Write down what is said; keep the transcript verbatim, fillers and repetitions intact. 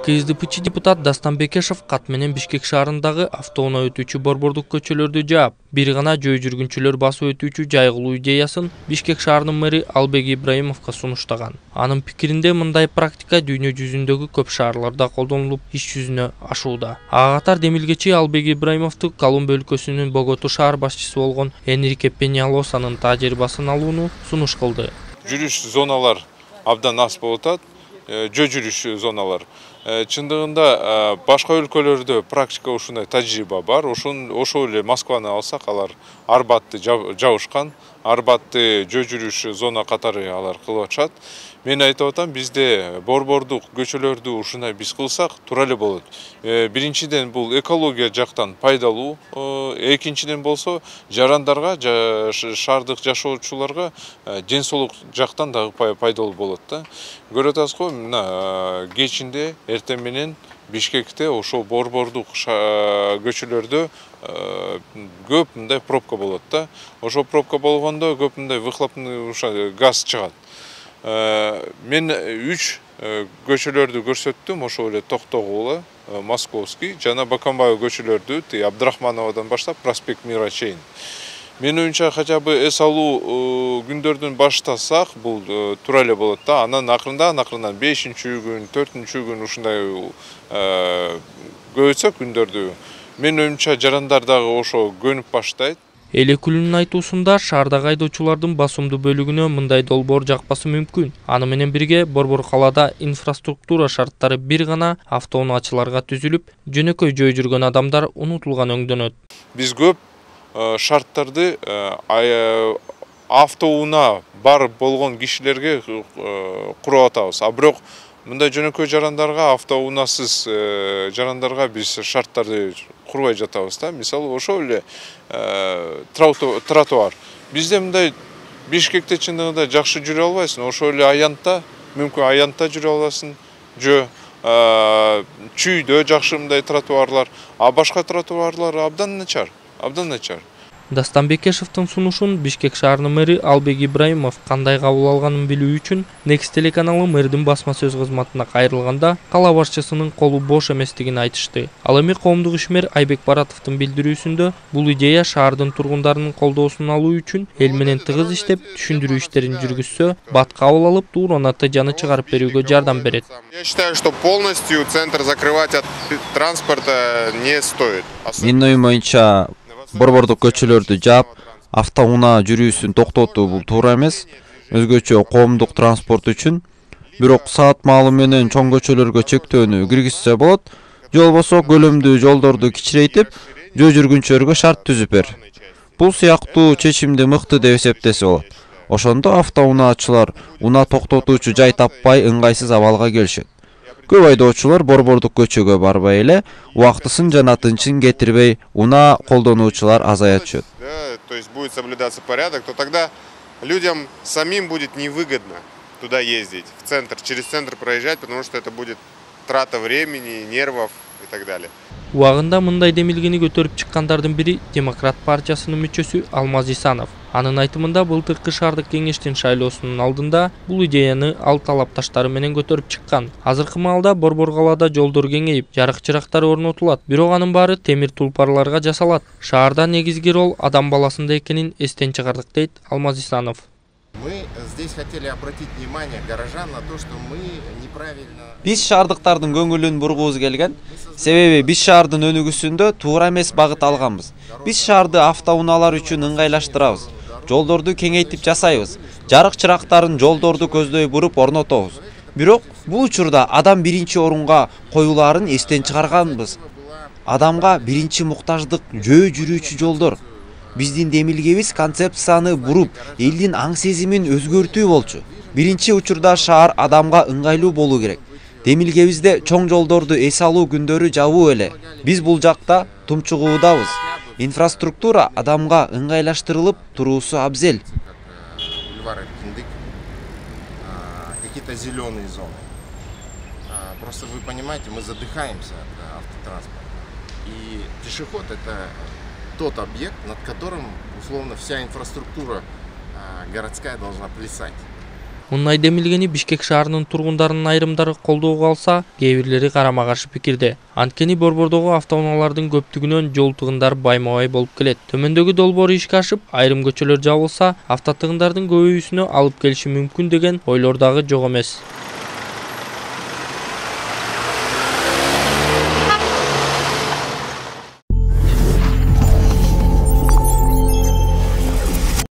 КСДПчи депутат Дастан Бекешев кат менен Бишкек шаарындагы автоунаа өтүүчү борбордук көчөлөрдү жаап, бир гана жөө жүргүнчүлөр басып өтүүчү жайгылуу идеясын Бишкек шаарынын мэри Албек Ибраимовго сунуштаган. Анын пикиринде мындай практика дүйнө жүзүндөгү көп шаарларда колдонулуп, иш жүзүнө ашууда. Ага катар демилгечи Албек Ибраимовду Колумб өлкөсүнүн Боготу шаар башчысы болгон Энрике Пеньялосанын тажрыйбасын алууну сунуш кылды. Жүрүш зоналар абдан аз болуп атат. Жөө жүрүш зоналар. Чындыгында башка өлкөлөрдө практика ушундай тажрыйба бар. Ошол эле Москваны алсак, алар Арбатты жабышкан. Арбатты жөө жүрүш зона катары алар кылып атышат. Мен айтып атам, бизде борбордук көчөлөрдү ушундай биз кылсак туура эле болот. Биринчиден бул экология жактан пайдалуу, экинчиден болсо жарандарга, шаардык жашоочуларга ден соолук жактан дагы пайдалуу болот да. Көрүп атасызбы, мына кечинде эртең менен Бишкекте ошол борбордук көчөлөрдө көп мындай пробка болот да. Ошол пробка болгондо көп мындай выхлопный газ чыгат. Мен үч көчөлөрдү көрсөттүм, ошол эле Токтогулы, Московский жана Бакамбаев көчөлөрдү, Абдрахмановадан баштап проспект Мира чейин. Мен оюмча хотя бы эс алуу күндөрдүн баштасак, бул туура эле болот да. Анан акырындан акырындан бешинчи күн, төртүнчү күн ушундай көбөйтсөк күндөрдү, мен оюмча жарандар дагы ошо көнүп баштайт. Эл өкүлүнүн айтуусунда шаардагы айдоочулардын басымдуу бөлүгүнө мындай долбоор жакпасы мүмкүн. Аны менен бирге борбор калаада инфраструктура шарттары бир гана автоунаачыларга түзүлүп, жөнөкөй жөө жүргөн адамдар унутулган өңдөнөт. Биз көп шарттарды автоунаа бар болгон кишилерге куруп атабыз. А бирок мындай жөнөкөй жарандарга, автоунаасыз жарандарга биз шарттарды курбай жатабыз да. Мисалы, ошол эле тротуар. Бизде мындай Бишкекте чындыгында жакшы жүрө албайсың, ошол эле Аянтта, мүмкүн Аянтта жүрө аласың, жөө Чүйдө жакшы мындай тротуарлар, а башка тротуарлар абдан начар, абдан начар. Дастан Бекешевдин сунушун Бишкек шаарынын мэри Албек Ибраимов кандай кабыл алганын билүү үчүн Next телеканалы мэрдин басма сөз кызматына кайрылганда кала башчысынын колу бош эместигин айтышты. Ал эми коомдук ишмер Айбек Баратовдун билдирүүсүндө бул идея шаардын тургундарынын колдоосун алуу үчүн эл менен тыгыз иштеп, түшүндүрүү иштерин жүргүзсө, бат кабыл алып, туура натыйжаны чыгарып берүүгө жардам берет. Я считаю, что полностью центр закрывать от транспорта не стоит. Менин оюм боюнча борбордук көчөлөрдү жаап, автоунаа жүрүүсүн токтотуу бул туура эмес, өзгөчө коомдук транспорт үчүн. Бирок саат маалы менен чоң көчөлөргө чектөөнү киргизсе болот, же болбосо көлөмдүү жолдорду кичирейтип, жөө жүргүнчүлөргө шарт түзүп бер. Бул сыяктуу чечимди мыкты деп эсептесе болот. Ошондо автоунаачылар унаа токтотуучу жай таппай ыңгайсыз абалга келишет. Көп айдоочулар борбордук көчөгө барбай эле, убактысын жана тынчын кетирбей, унаа колдонуучулар азая түшөт. То есть будет соблюдаться порядок, то тогда людям самим будет невыгодно туда ездить, в центр, через центр проезжать, потому что это будет трата времени, нервов и так далее. Убагында мындай демилгени көтөрүп чыккандардын бири Демократ партиясынын мүчөсү Алмаз Исанов. Анын айтымында былтыркы шаардык кеңештин шайлоосунун алдында бул идеяны ал талапташтары менен көтөрүп чыккан. Азыркы маалда борбор калаада жолдор кеңейип, жарык чырактар орнотулат. Бирок анын баары темир тулпарларга жасалат. Шаарда негизги рол адам баласында экенин эстен чыгардык, дейт Алмаз Исанов. Мы здесь хотели обратить внимание горожан на то, что мы неправильно. Биз шаардыктардын көңүлүн бургубуз келген. Себеби биз шаардын өнүгүүсүндө туура эмес багыт алганбыз. Биз шаарды автоунаалар үчүн ыңгайлаштырабыз. Жолдорду кеңейтип жасайбыз. Жарык чырактарын жолдорду көздөй буруп орнотобуз. Бирок бул учурда адам биринчи орунга коюлаарын эстен чыгарганбыз. Адамга биринчи муктаждык жөө жүрүүчү жолдор. Биздин демилгебиз концепцияны буруп, элдин аң сезимин өзгөртүү болчу. Биринчи учурда шаар адамга ыңгайлуу болуу керек. Демилгебизде чоң жолдорду эс алуу күндөрү жабуу эле. Биз бул жакта тумчугуудабыз. Инфраструктура адамга ыңгайлаштырылып туруусу абзел. Какие-то зеленые зоны. Просто вы понимаете, мы задыхаемся от автотранспорта. И пешеход — это тот объект, над которым, условно, вся инфраструктура городская должна плясать. Мындай демилгени Бишкек шаарынын тургундарынын айрымдары колдоого алса, кээ бирлери карама каршы пикирде. Анткени борбордогу автоунаалардын көптүгүнөн жол тыгындары байма-бай болуп келет. Төмөндөгү долбоор ишке ашып, айрым көчөлөр жабылса, автотыгындардын көбөйүүсүнө алып келиши мүмкүн деген ойлор дагы жок эмес.